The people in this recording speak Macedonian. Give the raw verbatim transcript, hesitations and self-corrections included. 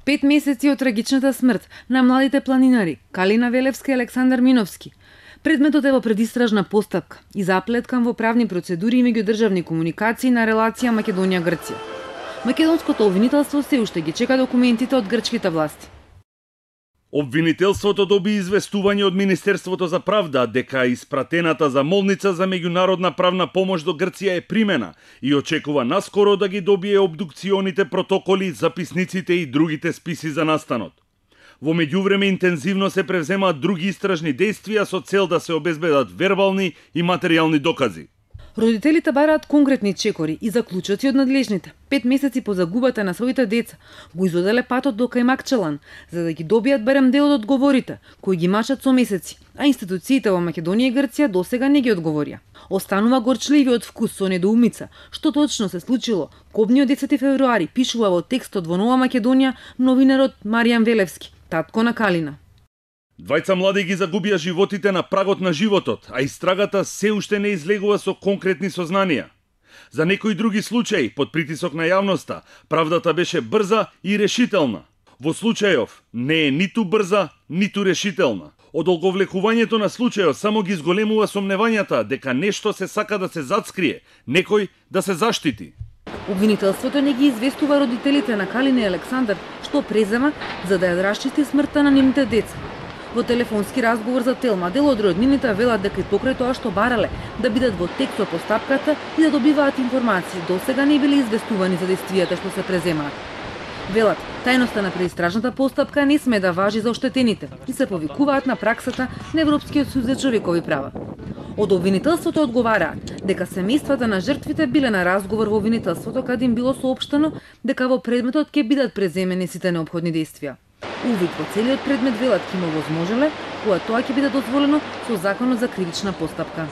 Пет месеци од трагичната смрт на младите планинари Калина Велевска и Александар Миновски. Предметот е во предистражна постапка и заплеткан во правни процедури и меѓудржавни комуникации на релација Македонија-Грција. Македонското обвинителство се уште ги чека документите од грчките власти. Обвинителството доби известување од Министерството за правда дека испратената замолница за меѓународна правна помош до Грција е примена и очекува наскоро да ги добие обдукционите протоколи, записниците и другите списи за настанот. Во меѓувреме интензивно се превземаат други истражни действија со цел да се обезбедат вербални и материјални докази. Родителите бараат конкретни чекори и заклучоци од надлежните. Пет месеци по загубата на своите деца го изоделе патот до Кајмакчалан, за да ги добијат барем дел од одговорите, кои ги мачат со месеци, а институциите во Македонија и Грција досега не ги одговорија. Останува горчливиот вкус со недоумица, што точно се случило. Кобниот десети февруари пишува во текстот во Нова Македонија новинарот Маријан Велевски, татко на Калина. Двајца млади ги загубија животите на прагот на животот, а истрагата се уште не излегува со конкретни сознанија. За некои други случаи, под притисок на јавноста, правдата беше брза и решителна. Во случајов не е ниту брза, ниту решителна. Одолговлекувањето на случајот само ги зголемува сомневањата дека нешто се сака да се зацкрие, некој да се заштити. Обвинителството не ги известува родителите на Калина и Александар што презема за да ја расчисти смртта на нивните деца. Во телефонски разговор за Телма, дел од роднините велат дека и покрај тоа што барале да бидат во тек со постапката и да добиваат информации, досега не биле известувани за действијата што се преземаат. Велат, тајноста на преистражната постапка не сме да важи за оштетените и се повикуваат на праксата на Европскиот суд за човекови права. Од обвинителството одговараат дека семејствата на жртвите биле на разговор во обвинителството каде им било соопштено дека во предметот ќе бидат преземени сите неопходни действија. Увид во целиот предмет велат ќе има возможеле, кога тоа ќе биде дозволено со Законот за кривична постапка.